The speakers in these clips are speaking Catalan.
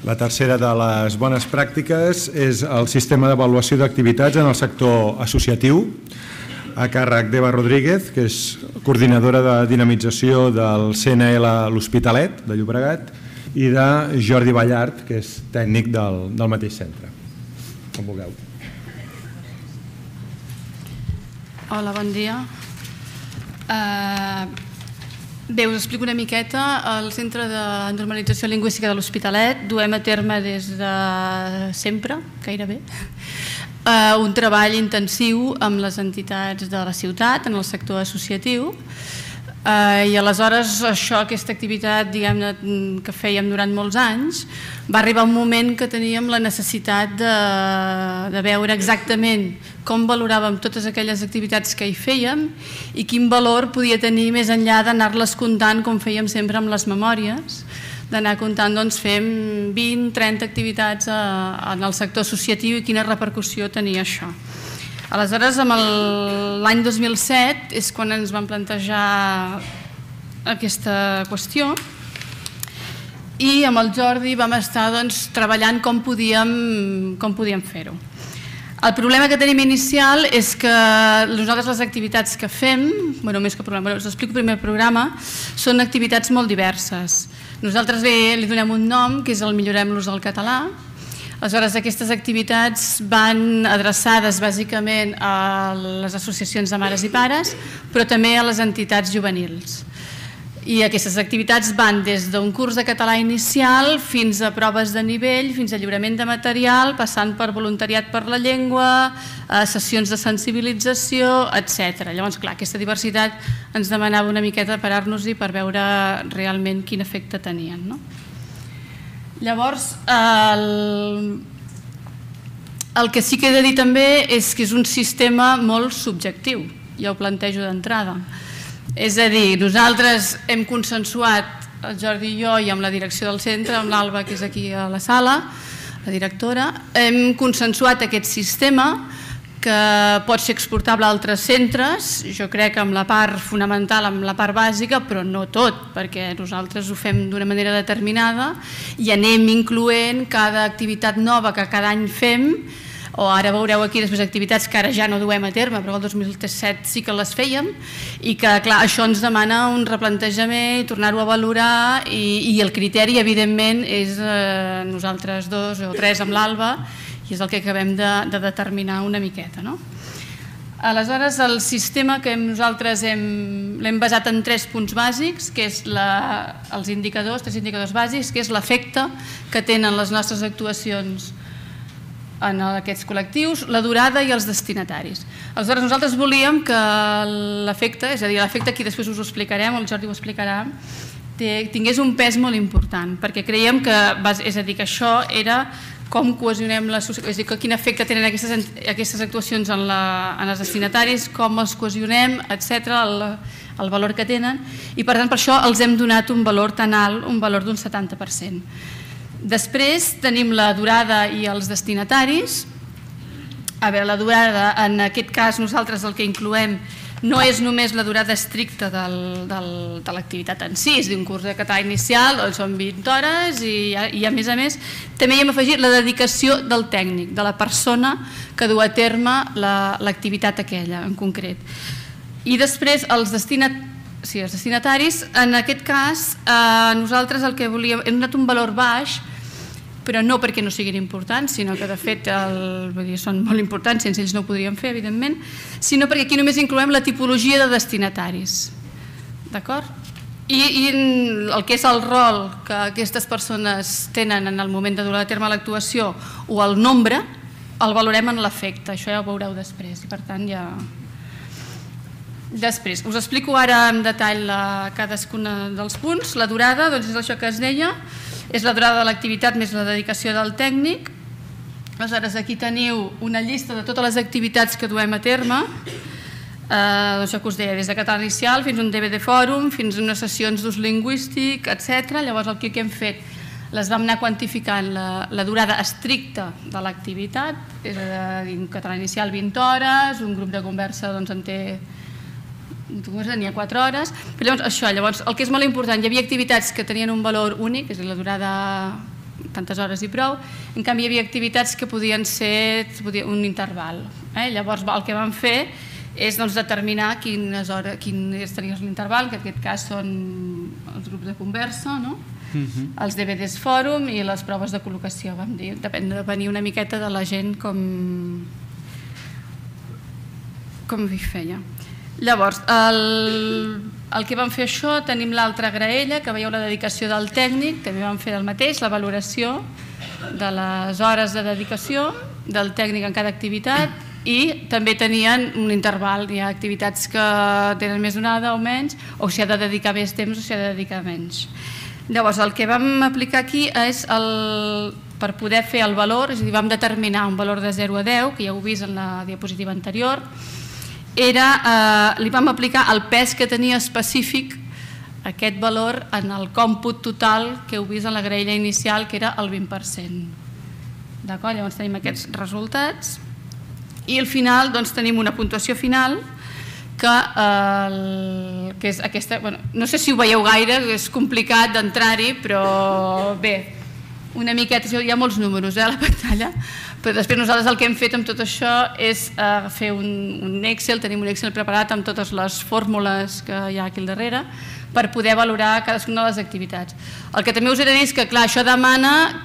La tercera de les bones pràctiques és el sistema d'avaluació d'activitats en el sector associatiu, a càrrec d'Eva Rodríguez, que és coordinadora de dinamització del CNL L'Hospitalet de Llobregat, i de Jordi Ballart, que és tècnic del mateix centre. Com vulgueu. Hola, bon dia. Bé, us explico una miqueta. Al Centre de Normalització Lingüística de l'Hospitalet duem a terme des de sempre, gairebé, un treball intensiu amb les entitats de la ciutat, en el sector associatiu, i aleshores aquesta activitat que fèiem durant molts anys, va arribar un moment que teníem la necessitat de veure exactament com valoràvem totes aquelles activitats que hi fèiem i quin valor podia tenir més enllà d'anar-les comptant com fèiem sempre amb les memòries, d'anar comptant, doncs fem 20-30 activitats en el sector associatiu i quina repercussió tenia això. Aleshores, l'any 2007 és quan ens vam plantejar aquesta qüestió i amb el Jordi vam estar treballant com podíem fer-ho. El problema que tenim inicial és que nosaltres les activitats que fem, més que problema, us explico primer el programa, són activitats molt diverses. Nosaltres li donem un nom, que és el Millorem l'ús del català. Aleshores, aquestes activitats van adreçades bàsicament a les associacions de mares i pares, però també a les entitats juvenils. I aquestes activitats van des d'un curs de català inicial fins a proves de nivell, fins a lliurament de material, passant per voluntariat per la llengua, sessions de sensibilització, etc. Llavors, clar, aquesta diversitat ens demanava una miqueta parar-nos-hi per veure realment quin efecte tenien. Llavors, el que sí que he de dir també és que és un sistema molt subjectiu, ja ho plantejo d'entrada. És a dir, nosaltres hem consensuat, el Jordi i jo, i amb la direcció del centre, amb l'Alba, que és aquí a la sala, la directora, hem consensuat aquest sistema que pot ser exportable a altres centres, jo crec amb la part fonamental, amb la part bàsica, però no tot, perquè nosaltres ho fem d'una manera determinada i anem incloent cada activitat nova que cada any fem, o ara veureu aquí després activitats que ara ja no duem a terme, però el 2017 sí que les fèiem, i que clar, això ens demana un replantejament, tornar-ho a valorar, i el criteri evidentment és nosaltres dos o tres amb l'Alba, i és el que acabem de determinar una miqueta. Aleshores, el sistema que nosaltres l'hem basat en 3 punts bàsics, que és els indicadors, 3 indicadors bàsics, que és l'efecte que tenen les nostres actuacions en aquests col·lectius, la durada i els destinataris. Aleshores, nosaltres volíem que l'efecte, és a dir, l'efecte aquí després us ho explicarem, el Jordi ho explicarà, tingués un pes molt important, perquè creiem que, és a dir, que això era com cohesionem la societat, és a dir, quin efecte tenen aquestes actuacions en els destinataris, com els cohesionem, etc., el valor que tenen, i per tant per això els hem donat un valor tan alt, un valor d'un 70%. Després tenim la durada i els destinataris. A veure, la durada, en aquest cas nosaltres el que incloem no és només la durada estricta de l'activitat en si, és d'un curs de català inicial, són 20 hores i a més també hi hem afegit la dedicació del tècnic, de la persona que du a terme l'activitat aquella en concret. I després els destinataris, en aquest cas nosaltres el que volíem, hem donat un valor baix, però no perquè no siguin importants, sinó que de fet són molt importants, sense ells no ho podríem fer, evidentment, sinó perquè aquí només incloem la tipologia de destinataris. D'acord? I el que és el rol que aquestes persones tenen en el moment de dur a terme l'actuació o el nombre, el valorem en l'efecte, això ja ho veureu després, i per tant ja... Després, us explico ara en detall cadascun dels punts. La durada, doncs és això que es deia, és la durada de l'activitat més la dedicació del tècnic. Aleshores, aquí teniu una llista de totes les activitats que duem a terme, això que us deia, des de català inicial fins a un DVD fòrum, fins a unes sessions d'ús lingüístic, etc. Llavors, el que hem fet, les vam anar quantificant la durada estricta de l'activitat, és a dir, català inicial 20 hores, un grup de conversa en té n'hi ha 4 hores, però llavors el que és molt important, hi havia activitats que tenien un valor únic, és a dir, la durada tantes hores i prou. En canvi, hi havia activitats que podien ser un interval. Llavors, el que vam fer és determinar quin tenia l'interval, que en aquest cas són els grups de conversa, els DVDs fòrum i les proves de col·locació, vam dir. Depenia una miqueta de la gent com hi feia. Llavors, el que vam fer això, tenim l'altra graella, que veieu la dedicació del tècnic, també vam fer el mateix, la valoració de les hores de dedicació del tècnic en cada activitat, i també tenien un interval, hi ha activitats que tenen més donada o menys, o s'hi ha de dedicar més temps o s'hi ha de dedicar menys. Llavors, el que vam aplicar aquí és per poder fer el valor, és a dir, vam determinar un valor de 0 a 10, que ja heu vist en la diapositiva anterior, li vam aplicar el pes que tenia específic aquest valor en el còmput total que heu vist en la graella inicial, que era el 20%. D'acord? Llavors tenim aquests resultats. I al final tenim una puntuació final que és aquesta, no sé si ho veieu gaire, és complicat d'entrar-hi, però bé, una miqueta, hi ha molts números a la pantalla, però després nosaltres el que hem fet amb tot això és fer un Excel, tenim un Excel preparat amb totes les fórmules que hi ha aquí al darrere per poder valorar cadascuna de les activitats. El que també us he de dir és que, clar, això demana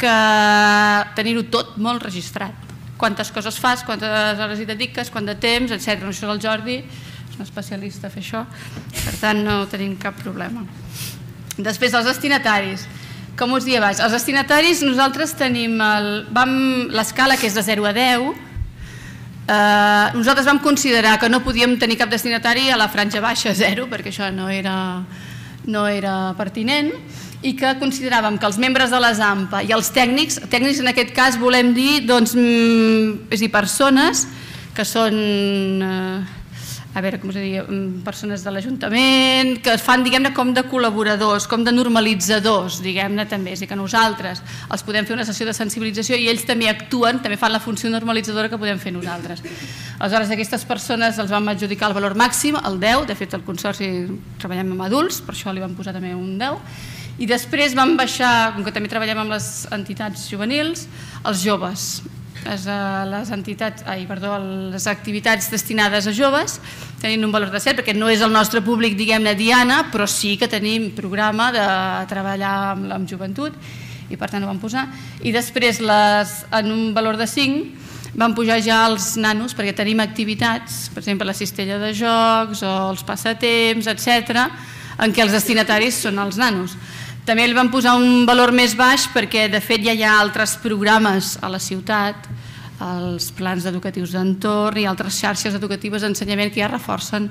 tenir-ho tot molt registrat. Quantes coses fas, quantes hores hi dediques, quant de temps, etc. Això és el Jordi, és un especialista a fer això, per tant no tenim cap problema. Després, els destinataris. Com us deia abans, els destinataris nosaltres tenim l'escala que és de 0 a 10. Nosaltres vam considerar que no podíem tenir cap destinatari a la franja baixa 0, perquè això no era pertinent, i que consideràvem que els membres de les AMPA i els tècnics en aquest cas volem dir persones que són, persones de l'Ajuntament, que es fan, diguem-ne, com de col·laboradors, com de normalitzadors, diguem-ne, també. És a dir, que nosaltres els podem fer una sessió de sensibilització i ells també actuen, també fan la funció normalitzadora que podem fer nosaltres. Aleshores, aquestes persones els vam adjudicar el valor màxim, el 10, de fet, el Consorci treballem amb adults, per això li vam posar també un 10, i després vam baixar, com que també treballem amb les entitats juvenils, els joves. Les activitats destinades a joves tenint un valor de 7, perquè no és el nostre públic, diguem-ne, diana, però sí que tenim programa de treballar amb joventut i per tant ho vam posar. I després, en un valor de 5, vam pujar ja els nanos, perquè tenim activitats, per exemple, la cistella de jocs o els passatemps, etc., en què els destinataris són els nanos. També li vam posar un valor més baix perquè, de fet, ja hi ha altres programes a la ciutat, els plans educatius d'entorn i altres xarxes educatives d'ensenyament que ja reforcen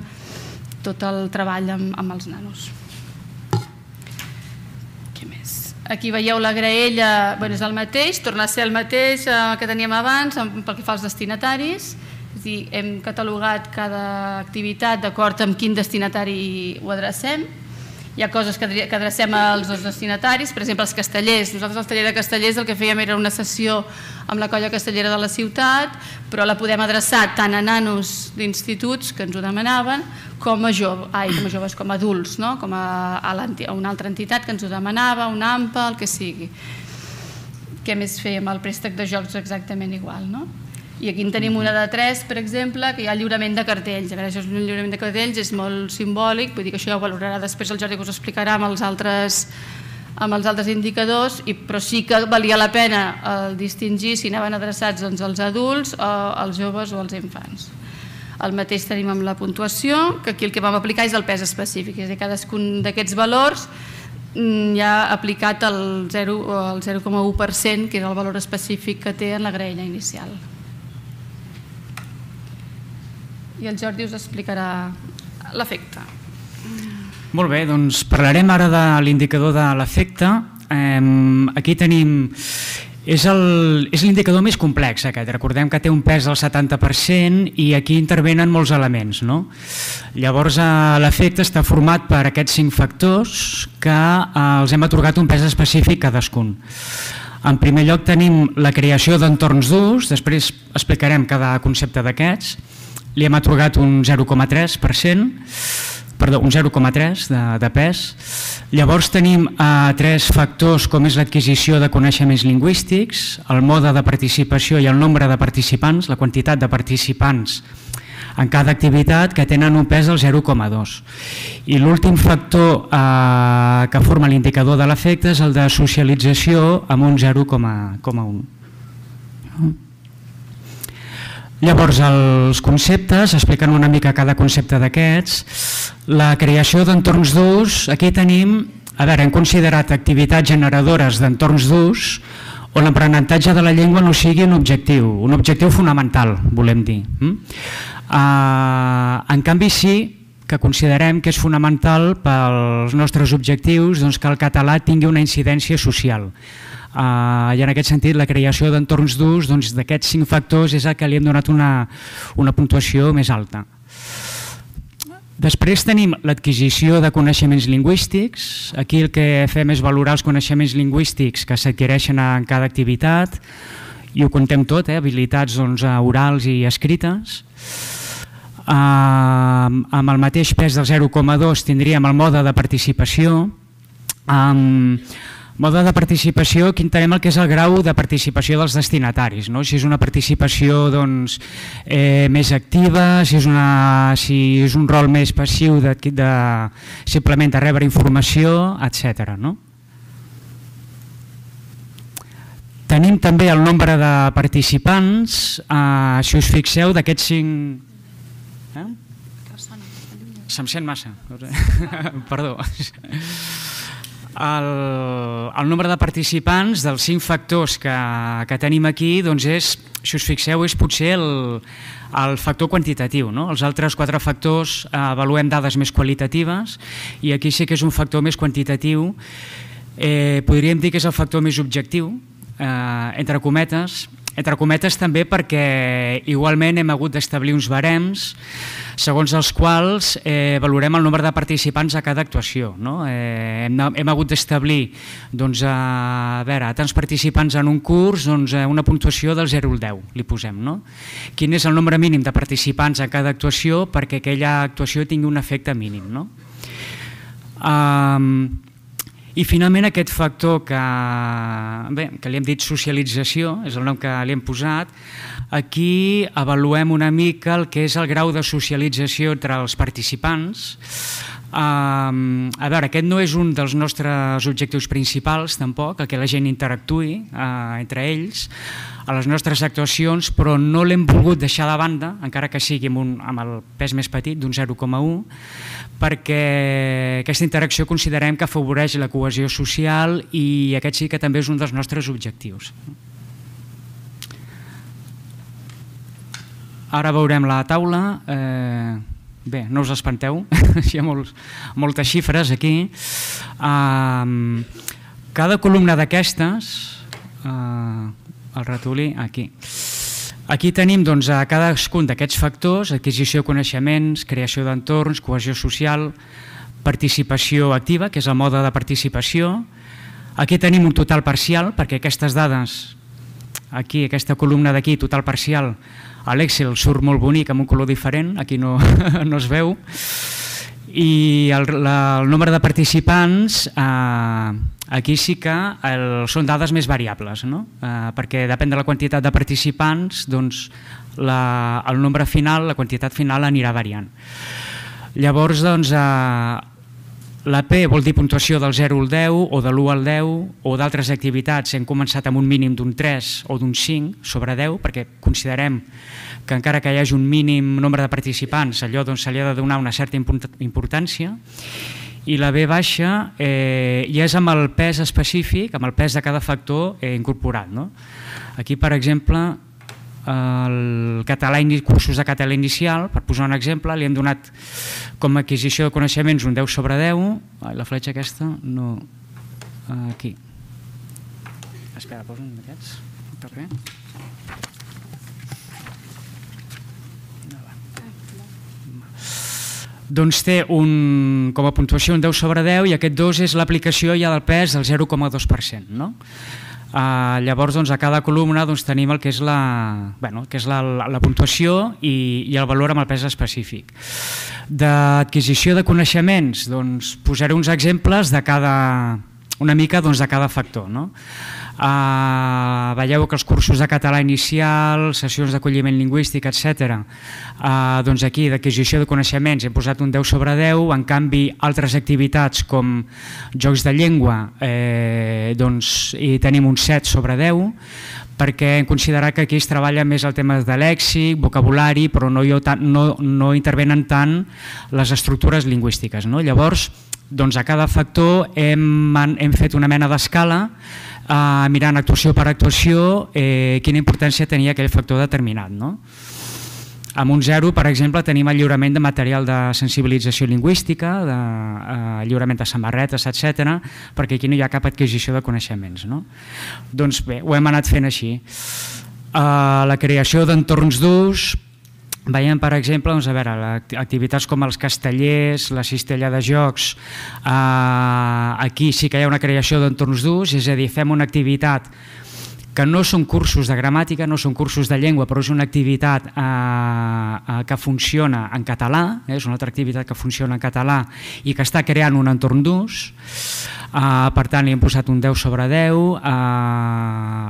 tot el treball amb els nanos. Què més? Aquí veieu la graella, és el mateix, torna a ser el mateix que teníem abans pel que fa als destinataris. És a dir, hem catalogat cada activitat d'acord amb quin destinatari ho adrecem. Hi ha coses que adrecem als dos destinataris, per exemple, els castellers. Nosaltres al taller de castellers el que fèiem era una sessió amb la colla castellera de la ciutat, però la podem adreçar tant a nanos d'instituts, que ens ho demanaven, com a joves, com a adults, com a una altra entitat que ens ho demanava, una AMPA, el que sigui. Què més fèiem? El préstec de jocs exactament igual, no? I aquí en tenim una de 3, per exemple, que hi ha lliurament de cartells. A veure, això és un lliurament de cartells, és molt simbòlic, vull dir que això ja ho valorarà després el Jordi, que us explicarà amb els altres indicadors, però sí que valia la pena distingir si anaven adreçats als adults, als joves o als infants. El mateix tenim amb la puntuació, que aquí el que vam aplicar és el pes específic, és a dir, cadascun d'aquests valors ja ha aplicat el 0,1%, que és el valor específic que té en la graella inicial. I el Jordi us explicarà l'efecte. Molt bé, doncs parlarem ara de l'indicador de l'efecte. Aquí tenim... És l'indicador més complex aquest. Recordem que té un pes del 70% i aquí intervenen molts elements. Llavors l'efecte està format per aquests 5 factors que els hem atorgat un pes específic cadascun. En primer lloc tenim la creació d'entorns d'ús, després explicarem cada concepte d'aquests. Li hem atorgat un 0,3%. un 0,3 de pes. Llavors tenim 3 factors com és l'adquisició de coneixements lingüístics, el mode de participació i el nombre de participants, la quantitat de participants en cada activitat, que tenen un pes del 0,2. I l'últim factor que forma l'indicador de l'efecte és el de socialització amb un 0,1. Llavors, els conceptes, expliquen una mica cada concepte d'aquests. La creació d'entorns d'ús, aquí tenim, hem considerat activitats generadores d'entorns d'ús on l'aprenentatge de la llengua no sigui un objectiu fonamental, volem dir. En canvi, sí que considerem que és fonamental pels nostres objectius que el català tingui una incidència social. I en aquest sentit, la creació d'entorns d'ús d'aquests 5 factors és el que li hem donat una puntuació més alta. Després tenim l'adquisició de coneixements lingüístics. Aquí el que fem és valorar els coneixements lingüístics que s'adquireixen en cada activitat i ho contem tot, habilitats orals i escrites. Amb el mateix pes del 0,2 tindríem el mode de participació. Mode de participació, aquí entenem el que és el grau de participació dels destinataris, si és una participació més activa, si és un rol més passiu simplement de rebre informació, etc. Tenim també el nombre de participants, si us fixeu, d'aquests 5... Se'm sent massa, perdó. El nombre de participants dels 5 factors que tenim aquí, si us fixeu, és potser el factor quantitatiu. Els altres 4 factors avaluem dades més qualitatives i aquí sí que és un factor més quantitatiu. Podríem dir que és el factor més objectiu, entre cometes també perquè igualment hem hagut d'establir uns barems segons els quals valorem el nombre de participants a cada actuació. Hem hagut d'establir a tants participants en un curs, una puntuació del 0 al 10 li posem. Quin és el nombre mínim de participants a cada actuació perquè aquella actuació tingui un efecte mínim. I finalment aquest factor que li hem dit socialització, és el nom que li hem posat, aquí avaluem una mica el que és el grau de socialització entre els participants. Aquest no és un dels nostres objectius principals tampoc, que la gent interactuï entre ells a les nostres actuacions, però no l'hem volgut deixar de banda, encara que sigui amb el pes més petit, d'un 0,1, perquè aquesta interacció considerem que afavoreix la cohesió social i aquest sí que també és un dels nostres objectius. Ara veurem la taula. Bé, no us espanteu, hi ha moltes xifres aquí. Cada columna d'aquestes, el ratolí, aquí. Aquí tenim a cadascun d'aquests factors, adquisició de coneixements, creació d'entorns, cohesió social, participació activa, que és el mode de participació. Aquí tenim un total parcial, perquè aquestes dades, aquí, aquesta columna d'aquí, total parcial, a l'Excel surt molt bonic amb un color diferent, aquí no es veu. I el nombre de participants, aquí sí que són dades més variables, perquè depèn de la quantitat de participants, el nombre final, la quantitat final anirà variant. Llavors, la P vol dir puntuació del 0 al 10 o de l'1 al 10 o d'altres activitats. Hem començat amb un mínim d'un 3 o d'un 5 sobre 10 perquè considerem que encara que hi hagi un mínim nombre de participants, allò se li ha de donar una certa importància. I la B baixa ja és amb el pes específic, amb el pes de cada factor incorporat. Aquí, per exemple, el cursos de català inicial, per posar un exemple, li hem donat com a adquisició de coneixements un 10 sobre 10. La fletxa aquesta no... Aquí. Espera, posa un d'aquests. Paper. Doncs té com a puntuació un 10 sobre 10 i aquest 2 és l'aplicació ja del pes del 0,2%. Llavors a cada columna tenim el que és la puntuació i el valor amb el pes específic. D'adquisició de coneixements, doncs posaré uns exemples de una mica de cada factor. Veieu que els cursos de català inicial, sessions d'acolliment lingüístic, etc. Doncs aquí d'adquisició de coneixements hem posat un 10 sobre 10, en canvi altres activitats com jocs de llengua hi tenim un 7 sobre 10, perquè hem considerat que aquí es treballa més el tema de lèxic, vocabulari, però no intervenen tant les estructures lingüístiques. Llavors, a cada factor hem fet una mena d'escala mirant actuació per actuació quina importància tenia aquell factor determinat. Amb un 0, per exemple, tenim el lliurament de material de sensibilització lingüística, de lliurament de samarretes, etc., perquè aquí no hi ha cap adquisició de coneixements. Doncs bé, ho hem anat fent així. La creació d'entorns d'ús, veiem, per exemple, activitats com els castellers, la cistella de jocs, aquí sí que hi ha una creació d'entorns d'ús, és a dir, fem una activitat que no són cursos de gramàtica, no són cursos de llengua, però és una activitat que funciona en català, és una altra activitat que funciona en català i que està creant un entorn d'ús. Per tant, li hem posat un 10 sobre 10.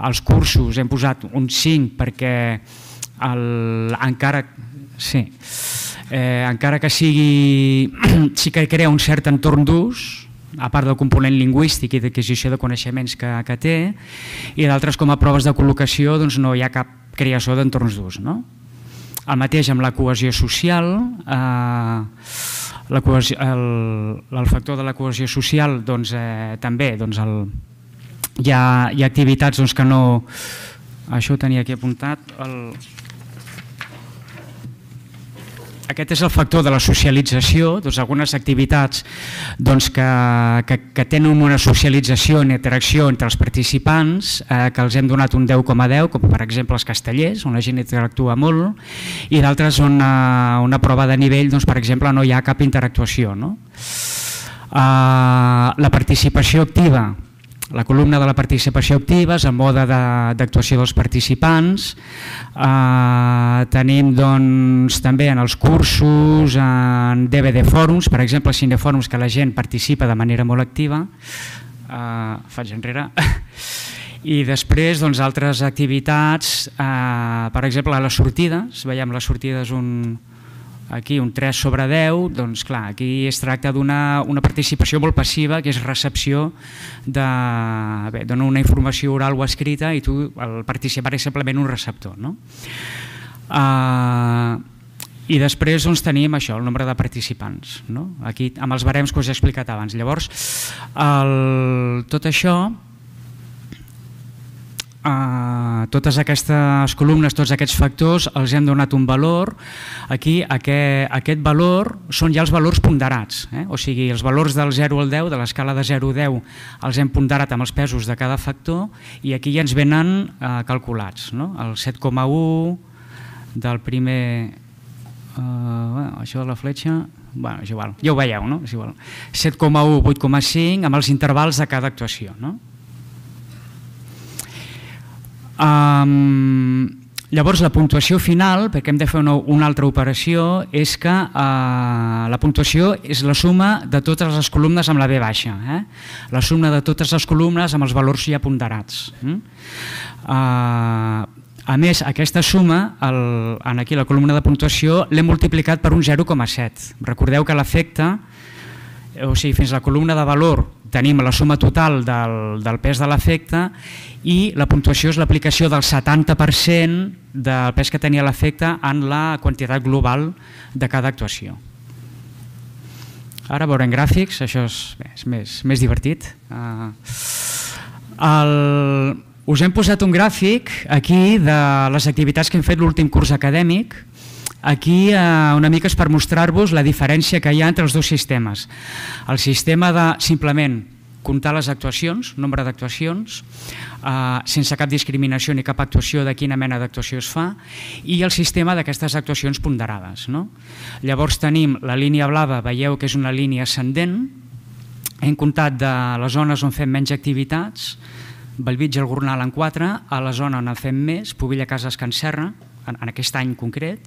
Als cursos hem posat un 5 perquè encara que sigui, sí que crea un cert entorn d'ús, a part del component lingüístic i d'adquisició de coneixements que té, i d'altres com a proves de col·locació no hi ha cap creació d'entorns d'ús. El mateix amb la cohesió social, el factor de la cohesió social també hi ha activitats que no... Això ho tenia aquí apuntat. Aquest és el factor de la socialització, algunes activitats que tenen una socialització i interacció entre els participants, que els hem donat un 10,10, com per exemple els castellers, on la gent interactua molt, i d'altres on una prova de nivell, per exemple, no hi ha cap interactuació. La participació activa, la columna de la participació activa és el mode d'actuació dels participants. Tenim també en els cursos, en DVD fòrums, per exemple, cinefòrums, que la gent participa de manera molt activa. Faig enrere. I després altres activitats, per exemple, a les sortides, veiem les sortides aquí un 3 sobre 10, doncs clar, aquí es tracta d'una participació molt passiva, que és recepció d'una informació oral o escrita, i tu, el participant, és simplement un receptor. I després tenim això, el nombre de participants, aquí amb els barems que us he explicat abans. Llavors, tot això, totes aquestes columnes, tots aquests factors, els hem donat un valor. Aquí aquest valor són ja els valors ponderats, o sigui, els valors del 0 al 10, de l'escala de 0 a 10, els hem ponderat amb els pesos de cada factor i aquí ja ens venen calculats. El 7,1 del primer... Això de la fletxa... És igual, ja ho veieu, no? 7,1, 8,5, amb els intervals de cada actuació. Llavors la puntuació final, perquè hem de fer una altra operació, és que la puntuació és la suma de totes les columnes amb la V baixa, la suma de totes les columnes amb els valors ja ponderats. A més, aquesta suma, aquí la columna de puntuació, l'hem multiplicat per un 0,7. Recordeu que l'efecte, o sigui, fins a la columna de valor tenim la suma total del pes de l'efecte i la puntuació és l'aplicació del 70% del pes que tenia l'efecte en la quantitat global de cada actuació. Ara veurem gràfics, això és més divertit. Us hem posat un gràfic aquí de les activitats que hem fet l'últim curs acadèmic. Aquí una mica és per mostrar-vos la diferència que hi ha entre els dos sistemes. El sistema de simplement comptar les actuacions, nombre d'actuacions, sense cap discriminació ni cap actuació de quina mena d'actuació es fa, i el sistema d'aquestes actuacions ponderades. Llavors tenim la línia blava, veieu que és una línia ascendent, hem comptat de les zones on fem menys activitats, Bellvitge, el Gornal en 4, a la zona on en fem més, Pobilla, Cases, Can Serra, en aquest any concret,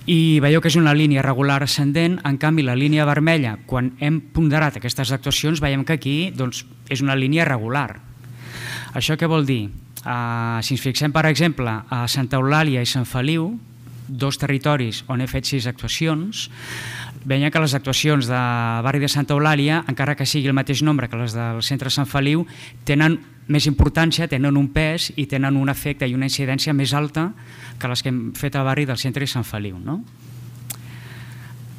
i veieu que és una línia regular ascendent. En canvi, la línia vermella, quan hem ponderat aquestes actuacions, veiem que aquí és una línia regular. Això què vol dir? Si ens fixem, per exemple, a Santa Eulàlia i Sant Feliu, dos territoris on he fet 6 actuacions, veiem que les actuacions de barri de Santa Eulàlia, encara que sigui el mateix nombre que les del centre Sant Feliu, tenen més importància, tenen un pes i tenen un efecte i una incidència més alta que les que hem fet al barri del centre i Sant Feliu.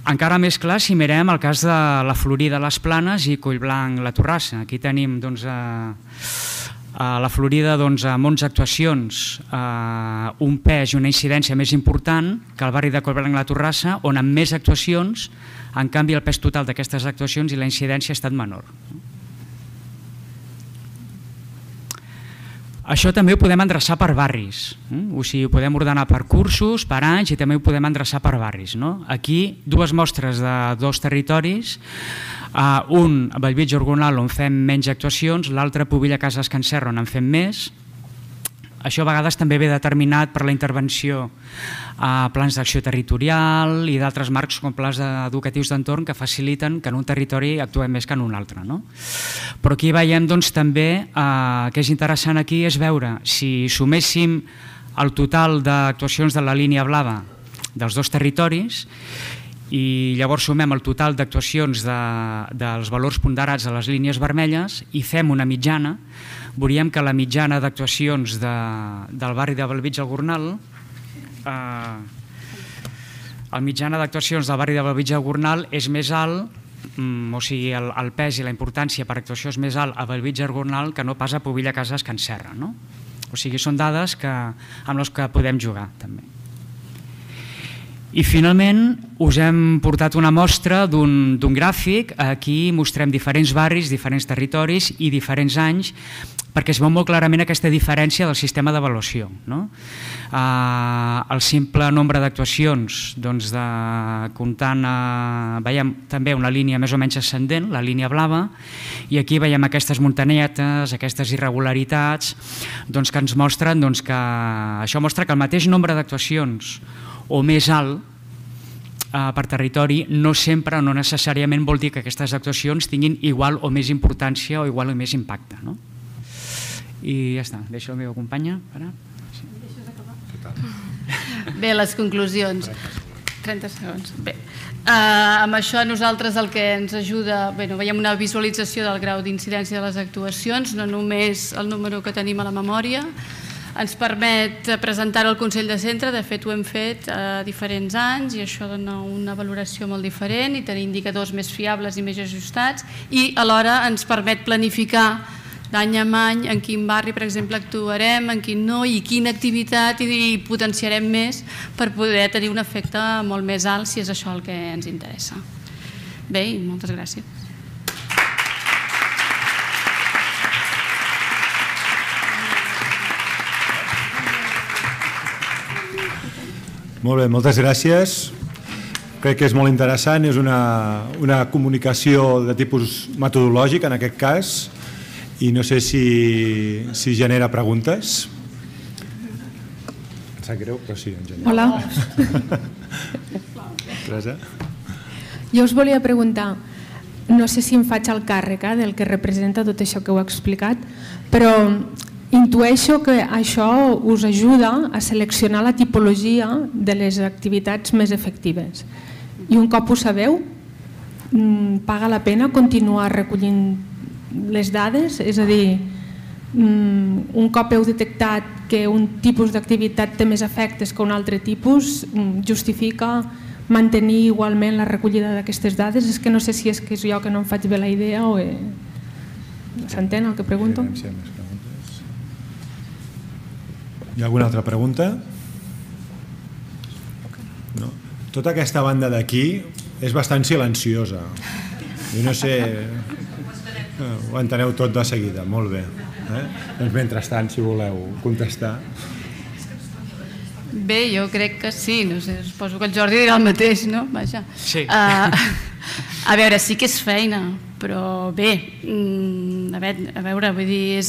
Encara més clar si mirem el cas de la Florida, les Planes i Collblanc, la Torrassa. Aquí tenim a la Florida amb 11 actuacions, un pes i una incidència més important que el barri de Collblanc, la Torrassa, on amb més actuacions, en canvi el pes total d'aquestes actuacions i la incidència ha estat menor. Això també ho podem endreçar per barris, o sigui, ho podem ordenar per cursos, per anys, i també ho podem endreçar per barris. Aquí, 2 mostres de 2 territoris, un a Bellvitge Orgonal on fem menys actuacions, l'altre a Pobilla Cases Can Serra on en fem més. Això a vegades també ve determinat per la intervenció a plans d'acció territorial i d'altres marcs com plans educatius d'entorn que faciliten que en un territori actuem més que en un altre. Però aquí veiem també que és interessant aquí és veure si suméssim el total d'actuacions de la línia blava dels 2 territoris i llavors sumem el total d'actuacions dels valors ponderats a les línies vermelles i fem una mitjana, veuríem que la mitjana d'actuacions del barri de Bellvitge al Gornal, la mitjana d'actuacions del barri de Bellvitge al Gornal és més alt, o sigui, el pes i la importància per actuació és més alt a Bellvitge al Gornal que no pas a Pobilla Cases Can Serra. O sigui, són dades amb les que podem jugar també. I finalment us hem portat una mostra d'un gràfic. Aquí mostrem diferents barris, diferents territoris i diferents anys perquè es veu molt clarament aquesta diferència del sistema d'avaluació. El simple nombre d'actuacions, comptant, veiem també una línia més o menys ascendent, la línia blava, i aquí veiem aquestes muntanetes, aquestes irregularitats que ens mostren que això mostra que el mateix nombre d'actuacions o més alt per territori no sempre o no necessàriament vol dir que aquestes actuacions tinguin igual o més importància o igual o més impacte. I ja està, deixo la meva companya. Bé, les conclusions. 30 segons. Bé, amb això nosaltres el que ens ajuda, veiem una visualització del grau d'incidència de les actuacions, no només el número que tenim a la memòria, ens permet presentar-ho al Consell de Centre, de fet ho hem fet a diferents anys i això dona una valoració molt diferent i tenir indicadors més fiables i més ajustats i alhora ens permet planificar d'any en any en quin barri, per exemple, actuarem, en quin no i quina activitat i potenciarem més per poder tenir un efecte molt més alt si és això el que ens interessa. Bé, i moltes gràcies. Molt bé, moltes gràcies. Crec que és molt interessant, és una comunicació de tipus metodològic en aquest cas i no sé si genera preguntes. Em sap greu, però sí, en genera. Hola. Teresa? Jo us volia preguntar, no sé si em faig el càrrec del que representa tot això que heu explicat, però intueixo que això us ajuda a seleccionar la tipologia de les activitats més efectives. I un cop ho sabeu, paga la pena continuar recollint les dades? És a dir, un cop heu detectat que un tipus d'activitat té més efectes que un altre tipus, justifica mantenir igualment la recollida d'aquestes dades? És que no sé si és que és jo que no em faig bé la idea o... S'entén el que pregunto? Hi ha alguna altra pregunta? No. Tota aquesta banda d'aquí és bastant silenciosa. Jo no sé... Ho enteneu tot de seguida, molt bé. Doncs mentrestant, si voleu contestar. Bé, jo crec que sí, no sé, suposo que el Jordi dirà el mateix, no? Vaja. Sí. A veure, sí que és feina, però bé, a veure, vull dir,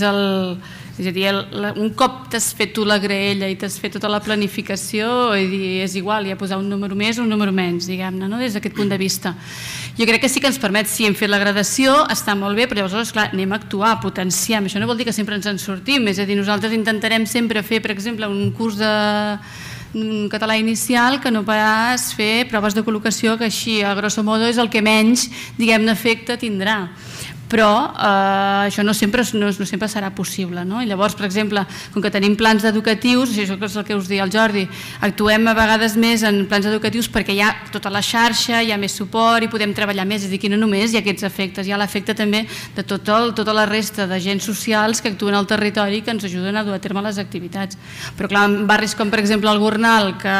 És a dir, un cop t'has fet tu la graella i t'has fet tota la planificació, és igual, ja posar un número més o un número menys, diguem-ne, des d'aquest punt de vista. Jo crec que sí que ens permet, si hem fet la gradació, està molt bé, però llavors, clar, anem a actuar, potenciem. Això no vol dir que sempre ens en sortim, és a dir, nosaltres intentarem sempre fer, per exemple, un curs de català inicial que no pas fer proves de col·locació, que així, a grosso modo, és el que menys, diguem-ne, efecte tindrà. Però això no sempre serà possible. I llavors, per exemple, com que tenim plans educatius, això és el que us deia el Jordi, actuem a vegades més en plans educatius perquè hi ha tota la xarxa, hi ha més suport i podem treballar més, és a dir, que no només hi ha aquests efectes, hi ha l'efecte també de tota la resta d'agents socials que actuen al territori i que ens ajuden a dur a terme les activitats. Però clar, en barris com per exemple el Gornal, que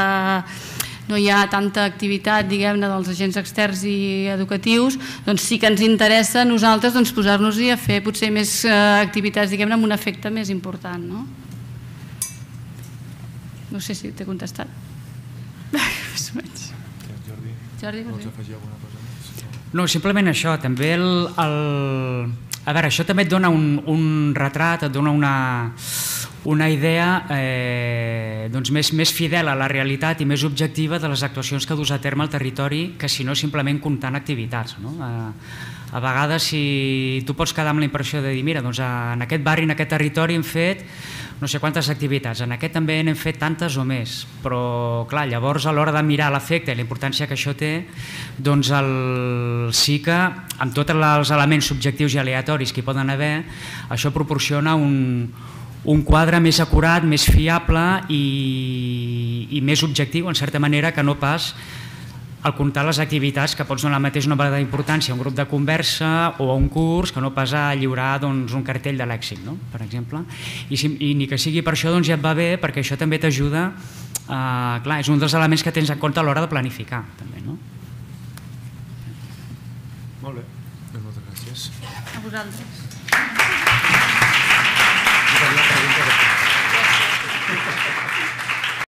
no hi ha tanta activitat, diguem-ne, dels agents externs i educatius, doncs sí que ens interessa a nosaltres posar-nos-hi a fer potser més activitats, diguem-ne, amb un efecte més important. No sé si t'he contestat. Jordi, vols afegir alguna cosa més? No, simplement això, també a veure, això també et dona un retrat, et dona una idea més fidel a la realitat i més objectiva de les actuacions que dus a terme al territori que si no simplement comptant activitats. A vegades si tu pots quedar amb la impressió de dir mira, doncs en aquest barri, en aquest territori hem fet no sé quantes activitats, en aquest també n'hem fet tantes o més, però clar, llavors a l'hora de mirar l'efecte i la importància que això té, doncs sí que amb tots els elements subjectius i aleatoris que hi poden haver, això proporciona un quadre més acurat, més fiable i més objectiu, en certa manera, que no pas al comptar les activitats que pots donar el mateix nombre d'importància a un grup de conversa o a un curs que no pas a lliurar un cartell de lèxic, per exemple. I ni que sigui per això ja et va bé, perquè això també t'ajuda, clar, és un dels elements que tens en compte a l'hora de planificar. Molt bé, moltes gràcies. A vosaltres.